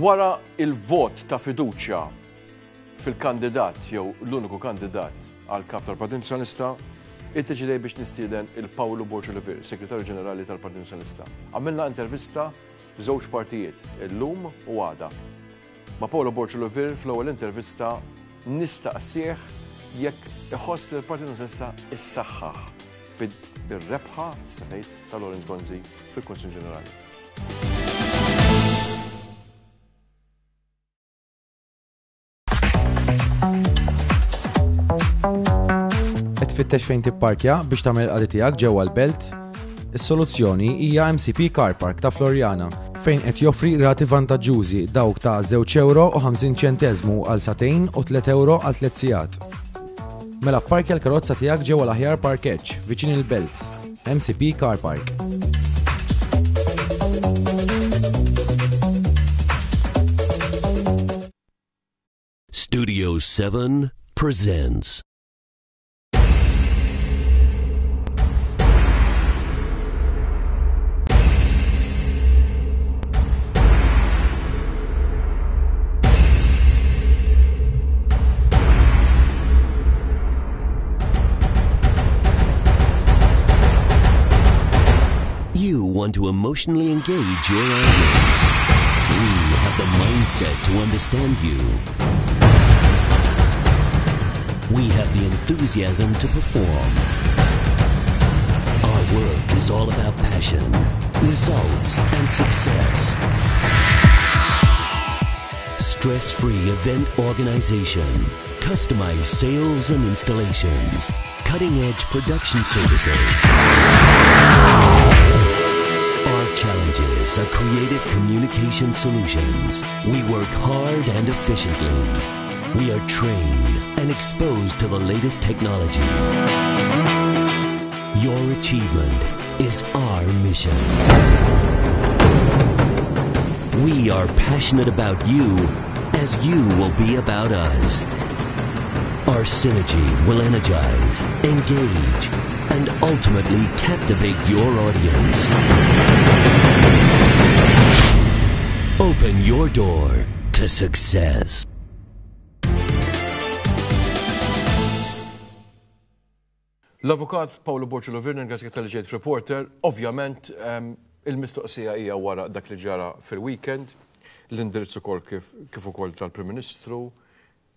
Wara il-vot ta' fiduċja fil-kandidat jew l-uniku kandidat għal kap tal-Partit Nazzjonalista, iddeċidej biex nistieden il-Pawlu Borg Olivier, Segretarju Ġenerali tal-Partit Nazzjonalista. Għamilna intervista f'żewġ partijiet, illum u għada. Ma' Paolo Borg Olivier fl-ewwel intervista nistaqsih jekk iħoss li l-Partit Nazzjonalista issaħħaħ bir-rebħa semmejt ta' Lawrence Gonzi fil-Kunsill Ġenerali. Qed tfittex fejn tipparkja biex tagħmel il-qadi tiegħek ġewwa l-belt? Is-soluzzjoni hija MCP Car Park ta' Floriana, fejn qed joffri rati vantaġġużi dawk ta' żewġ ewro u 50 ċenteżmu għal sagħtejn u tliet ewro għal tliet sigħat. Mela pparkja l-karozza tiegħek ġewwa l-aħjar parkeġġ viċin il-belt, MCP Car Park. Studio 7 presents. You want to emotionally engage your audience. We have the mindset to understand you. We have the enthusiasm to perform. Our work is all about passion, results, and success. Stress-free event organization, customized sales and installations, cutting-edge production services. Our challenges are creative communication solutions. We work hard and efficiently. We are trained and exposed to the latest technology. Your achievement is our mission. We are passionate about you as you will be about us. Our synergy will energize, engage, and ultimately captivate your audience. Open your door to success. L-Avukat Paolo Borg Olivier, nirringrazzjak talli ġejt f'Reporter. Ovvjament, ehm, il-mistoqsija hija wara dak li ġara fil-weekend, l-indirizz ukoll kif, kif ukoll tal-Prim Ministru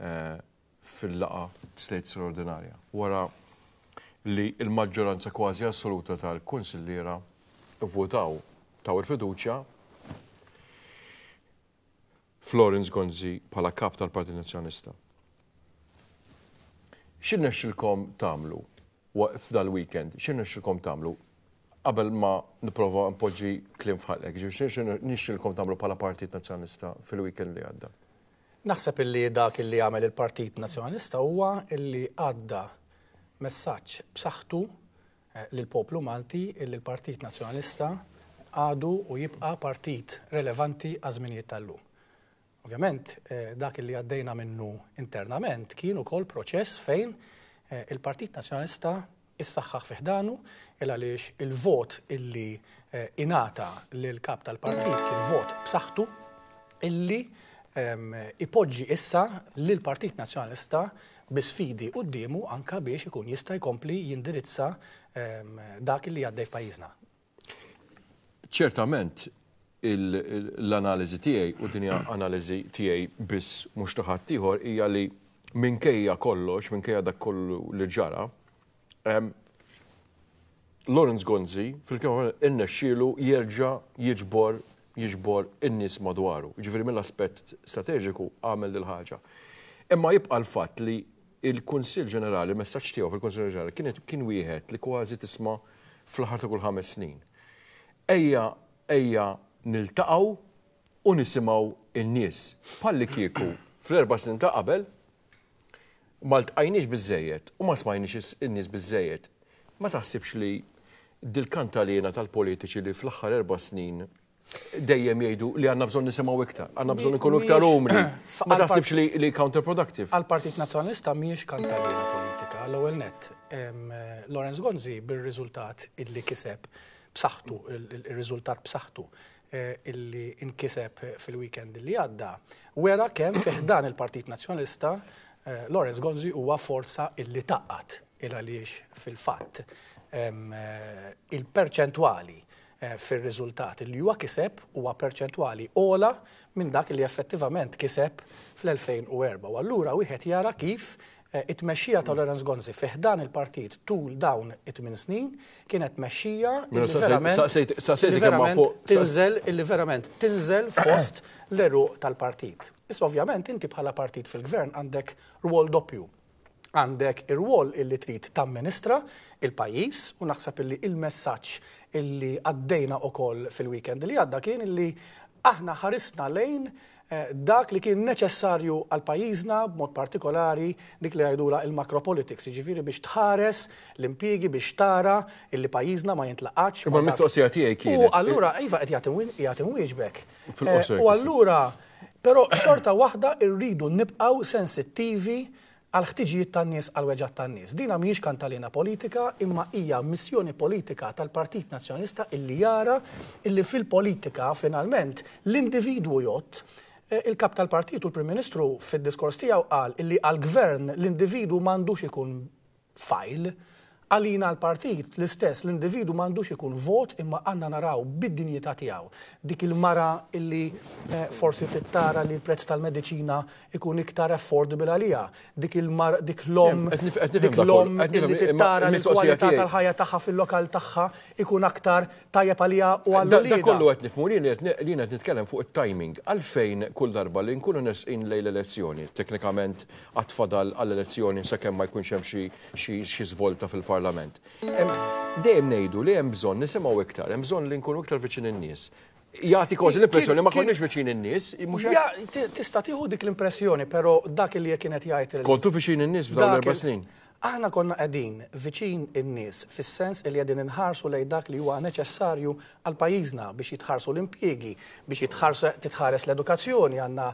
eh, fil-laqgħa state straordinarja. Wara li l-maġġoranza kważi assoluta tal-kunsilliera votaw taw il-fiduċja Florence Gonzi bħala kap tal-Partit Nazzjonalista. X'irnexxilkom tagħmlu f'dal-weekend? X'irnexxilkom tagħmlu qabel ma nipprova npoġġi kliem f'ħalqek? Ġifieri x'irnexxilkom tagħmlu bħala Partit Nazzjonalista fil-weekend li għadda? Naħseb illi dak illi għamel il-Partit Nazzjonalista huwa illi għadda messaġġ b'saħħtu lill-poplu Malti illi l-Partit Nazzjonalista għadu u jibqa' partit relevanti għaż-żminijiet tal-lum. Ovvjament, dak illi għaddejna minnu internament kien ukoll proċess fejn il-Partit Nazzjonalista issaħħaħ fi ħdanu il għaliex il-vot illi ingħata lill-kap tal-partit kien vot b'saħħtu illi ipoġġi issa lill-Partit Nazzjonalista bi sfidi quddiemu anke biex ikun jista' jkompli jindirizza dak li għaddej f'pajjiżna. Ċertament l-analiżi tiegħi u din hija analiżi tiegħi biss mhux ta' ħaddieħor hija li minkejja kollox, minkejja dak kollu li ġara, Lawrence Gonzi fil-kelma irnexxielu jerġa' jiġbor jiġbor in-nies madwaru. Jiġifieri mill-aspett strateġiku għamel dil-ħaġa. Imma jibqa' l-fatt li il-Kunsill Ġenerali, il-messaġġ tiegħu fil-Kunsill Ġenerali kien kien wieħed li kważi tisma' fl-aħħar ta' kull ħames snin. Ejja, ejja niltaqgħu u nisimgħu n-nies. Bħallikieku fl-erba' snin ta' qabel ma ltqajniex biżżejjed u ma smajniex in-nies biżżejjed. Ma taħsibx li dil-kantaliena tal-politiċi li fl-aħħar erba' snin dejjem jgħidu li għandna bżonn nisimgħu iktar, għandna bżonn inkunu iktar umli. Ma taħsibx li, li counterproductive? Għal-Partit Nazzjonalista mhijiex kantaliena politika. L-ewwel nett, Lawrence Gonzi bir-riżultat illi kiseb b'saħħtu, ir-riżultat b'saħħtu. illi nkiseb fil-weekend li għadda wera kemm fi ħdan il-Partit Nazzjonalista Lawrence Gonzi huwa forza illi tgħaqqad il għaliex fil-fatt il-perċentwali fir-riżultat li huwa kiseb huwa perċentwali ogħla minn dak li effettivament kiseb fl-2004. U allura wieħed jara kif it-tmexxija ta' Lawrence Gonzi fi ħdan il-partit tul dawn it-tmin snin kienet tmexxija li verament li verament tinżel illi verament tinżel fost l-għeruq tal-partit. Issa ovvjament inti bħala partit fil-gvern għandek rwol doppju. Għandek ir-rwol illi trid tamministra il-pajjiż u naħseb illi il-messaġġ illi għaddejna ukoll fil-weekend li għadda kien illi aħna ħarisna lejn dak li kien neċessarju għal pajjiżna b'mod partikolari dik li jgħidulha il-macropolitics, jiġifieri biex tħares l-impjiegi biex tara illi pajjiżna ma jintlaqatx. Imma l-mistoqsija tiegħi kienet. U allura iva qed jagħti nwieġbek. U allura però xorta waħda rridu nibqgħu sensittivi għall-ħtiġijiet tan-nies, għall-weġgħat tan-nies. Dina mhijiex kantalena politika imma hija missjoni politika tal-Partit Nazzjonalista illi jara illi fil-politika finalment l-individwu jgħodd. Il-Kap tal-Partit u l-Prim Ministru fid-diskors tiegħu qal illi għall-Gvern l-individwu m'għandux ikun fajl. Għalina l-partit, l-istess, l-individwu m'għandux ikun vot imma għandna naraw bid-dinjità tiegħu. Dik il-mara illi forsi trid tara li l-prezz tal-mediċina ikun iktar affordable għaliha, dik il-mar, dik l-omm, dik l-omm illi trid tara li l-kwalità tal-ħajja tagħha fil-lokal tagħha ikun aktar tajjeb għaliha u għal uliedha. Dak kollu qed nifhmu, jien qed nitkellem fuq it-timing. Għalfejn kull darba li nkunu nersqin lejn l-elezzjoni, teknikament għad fadal għall-elezzjoni sakemm ma jkunx hemm xi xi żvolta fil-Parlament. Dejjem ngħidu li hemm bżonn nisimgħu iktar, hemm bżonn li nkunu iktar viċin in-nies. Jagħti kważi l-impressjoni ma konniex viċin in-nies, mhux hekk? Tista' tieħu dik l-impressjoni, però dak li kien qed jgħid Kontu viċin in-nies f'dawn l-erba' snin? Aħna konna qegħdin viċin in-nies fis-sens li qegħdin inħarsu lejn dak li huwa neċessarju għal pajjiżna biex jitħarsu l-impjiegi, biex titħares l-edukazzjoni, għandna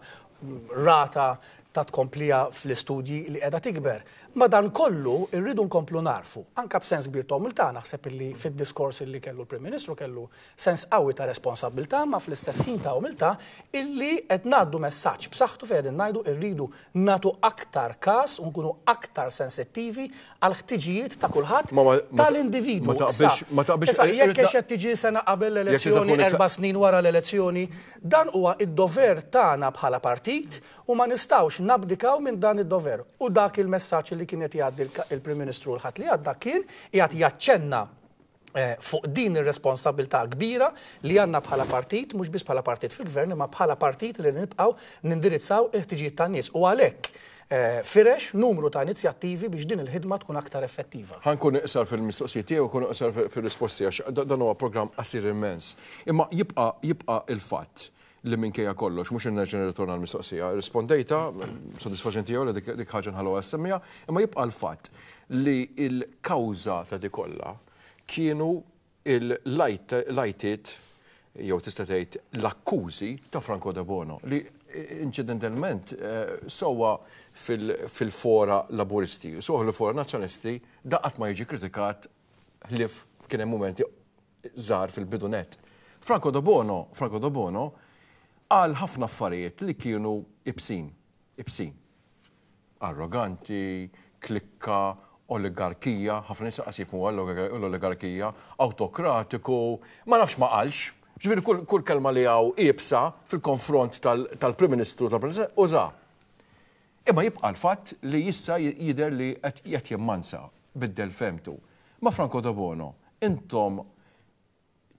rata ta' tkomplija fl-istudji li qiegħda tikber. Madankollu rridu nkomplu nagħrfu, anke b'sens kbir ta' umiltà, naħseb illi fid-diskors illi kellu l-Prim Ministru kellu sens qawwi ta' responsabbiltà ma fl-istess ħin ta' umiltà illi qed ngħaddu messaġġ b'saħħtu fejn qegħdin ngħidu rridu nagħtu aktar każ u nkunu aktar sensittivi għall-ħtiġijiet ta' kulħadd tal-individwu. Issa jekk hekk qed tiġi sena qabel l-elezzjoni, 4 snin wara l-elezzjoni, dan huwa d-dover tagħna bħala partit u ma nistgħux nabdikaw minn dan id-dover. U dak il-messaġġ li kien qed jgħaddi l-Prim Ministru l-Ħadd li għadda kien qiegħed jaċċenna fuq din ir-responsabbiltà kbira li għandna bħala partit, mhux biss bħala partit fil-gvern, imma bħala partit li nibqgħu nindirizzaw il-ħtiġijiet tan-nies. U għalhekk firex numru ta' inizjattivi biex din il-ħidma tkun aktar effettiva. Ħa nkun iqsar fil-mistoqsijiet tiegħi u nkun iqsar fir-risposti għax dan huwa programm qasir immens. Imma jibqa' jibqa' il-fatt li minkejja kollox, mhux nerġa' nirritorna l-mistoqsija, rispondejta, sodisfaċenti jew le dik ħaġa nħalluha ssemmija, imma jibqa' l-fatt li l-kawża ta' di kollha kienu l-għajtiet jew tista' tgħid l-akkużi ta' Franco Debono li inċidentalment sewwa fil-fora Laburisti, sewwa fil-fora Nazzjonalisti da qatt ma jiġi kritikat ħlief kien hemm mumenti żgħar fil-bidu nett. Franco Debono, Franco Debono qal ħafna affarijiet li kienu ibsin, ibsin. Arroganti, klikka, oligarkija, ħafna nies qas jifhmu l-oligarkija, awtokratiku, ma nafx ma qalx. Ġifieri kull, kull kelma li hawn iebsa fil-konfront tal-Prim Ministru tal-President uża. Imma jibqa' l-fatt li issa jidher li qed jimmansa, biddel fehmtu. Ma' Franco Debono, intom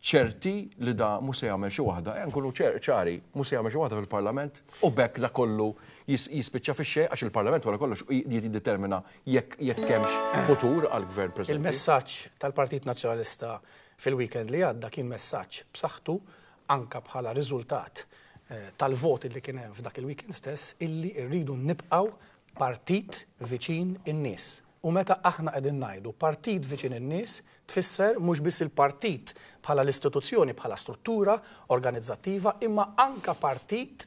ċerti li da mhux se jagħmel xi waħda, ejja nkunu ċari, mhux se jagħmel xi waħda fil-Parlament u b'hekk da kollu jispiċċa fix-xejn għax il-Parlament wara kollox jiddetermina jekk jekk hemmx futur għall-Gvern preżenti. Il-messaġġ tal-Partit Nazzjonalista fil-weekend li għadda kien messaġġ b'saħħtu anke bħala riżultat tal-voti li kien hemm f'dak il-weekend stess illi rridu nibqgħu partit viċin in-nies. U meta aħna qegħdin ngħidu partit viċin in-nies, tfisser mhux biss il-partit bħala l-istituzzjoni, bħala struttura organizzattiva, imma anke partit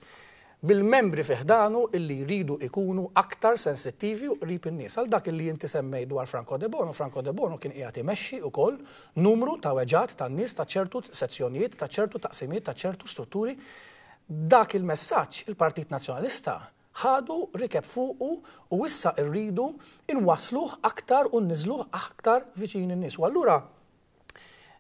bil-membri fi ħdanu illi jridu ikunu aktar sensittivi u qrib in-nies. Għal dak illi inti semmejt dwar Franco Debono, Franco Debono kien qiegħed imexxi wkoll numru ta' weġgħat tan-nies ta' ċertu sezzjonijiet, ta' ċertu taqsimiet, ta' ċertu strutturi. Dak il-messaġġ il-Partit Nazzjonalista ħadu, rikeb fuqu u issa rridu nwassluh aktar u nniżżluh aktar viċin in-nies. U allura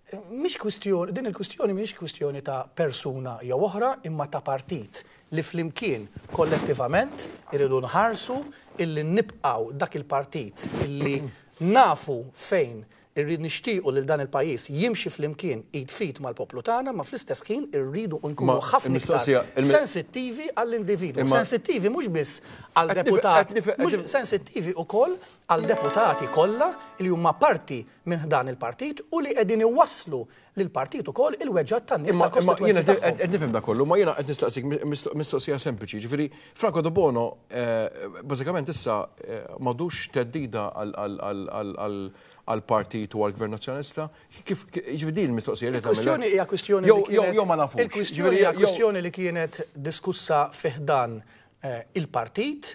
Mhix kwistjoni, din il-kwistjoni mhijiex kwistjoni ta' persuna jew oħra imma ta' partit li flimkien kollettivament irridu nħarsu illi nibqgħu dak il-partit illi nafu fejn irrid nixtiequ lil dan il-pajjiż jimxi flimkien id f'id mal-poplu tagħna ma fl-istess ħin irridu nkunu ħafna iktar sensittivi għall-individwu. Sensittivi mhux biss għal deputat, mhux sensittivi wkoll għal deputati kollha li huma parti minn ħdan il-partit u li qegħdin iwasslu lill-partit ukoll il-weġgħat tan-nies tal-kostitwenzi tagħhom. Qed nifhem dak kollu, ma jiena qed nistaqsik mistoqsija sempliċi, ġifieri Franco Debono bażikament issa m'għadux theddida għall-partit u għall-Gvern Nazzjonalista? Kif ġifieri din il-mistoqsija li tagħmel? Il-kwistjoni hija kwistjoni jew ma nafux. Il-kwistjoni hija kwistjoni li kienet diskussa fi ħdan il-partit.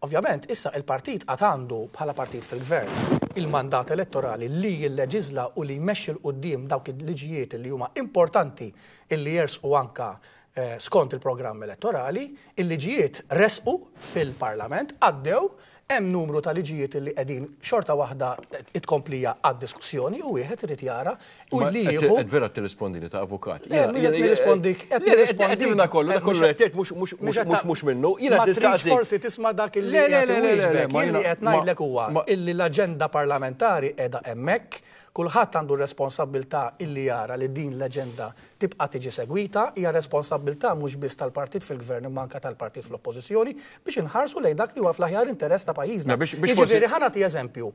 Ovvjament, issa il-partit għad għandu, bħala partit fil-gvern, il-mandat elettorali li jilleġiżla u li jmexxi 'l quddiem dawk il-liġijiet li huma importanti illi jersqu anka skont il-programm elettorali. Il-liġijiet resqu fil-Parlament, għaddew, Hemm numru ta' liġijiet li qegħdin xorta waħda it-tkomplija għad-diskussjoni u wieħed irid jara u li jieħu. Qed vera tirrispondini ta' avukat. Le, qed nirrispondik, qed nirrispondik. Qed kollu, dak kollu qed tgħid mhux mhux minnu. Jiena qed nistaqsik. Forsi tisma' dak illi qed inwieġbek. Jien li qed ngħidlek huwa illi l-aġenda parlamentari qiegħda hemmhekk, kulħadd għandu r-responsabbiltà illi jara li din l-aġenda tibqa' tiġi segwita, hija responsabbiltà mhux biss tal-partit fil-Gvern imma anke tal-partit fl-Oppożizzjoni biex inħarsu lejn dak li huwa fl-aħjar interess ta' pajjiżna. Jiġifieri ħa nagħti eżempju.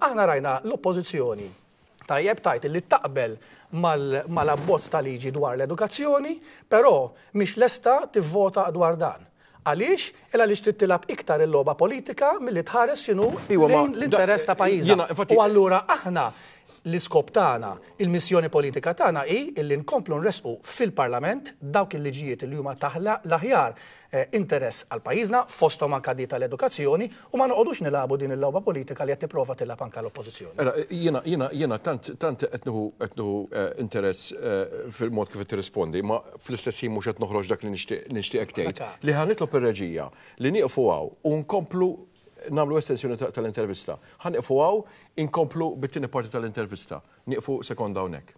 Aħna rajna l-Oppożizzjoni tajjeb tgħid li taqbel mal-abbozz ta' liġi dwar l-edukazzjoni, però mhix lesta tivvota dwar dan. Għaliex? Il għaliex trid tilgħab iktar il-logħba politika milli tħares x'inhu lejn l-interess ta' pajjiżna. U allura aħna l-iskop tagħna, il-missjoni politika tagħna hi illi nkomplu nressqu fil-Parlament dawk il-liġijiet li huma ta' l-aħjar interess għal pajjiżna, fosthom anke di tal-edukazzjoni, u ma noqogħdux nilagħbu din il-logħba politika li qed tipprova tilgħab anke l-Oppożizzjoni. Mela, jiena, jiena, jiena tant, tant qed nieħu, qed nieħu interess fil-mod kif qed tirrispondi, ma fl-istess ħin mhux qed noħroġ dak li nixtieq, nixtieqek tgħid, li ħa nitlob ir-reġija li nieqfu hawn u nkomplu nagħmlu estensjoni tal-intervista. Ħa nieqfu hawn, inkomplu bit-tieni parti tal-intervista. Nieqfu sekonda hawnhekk.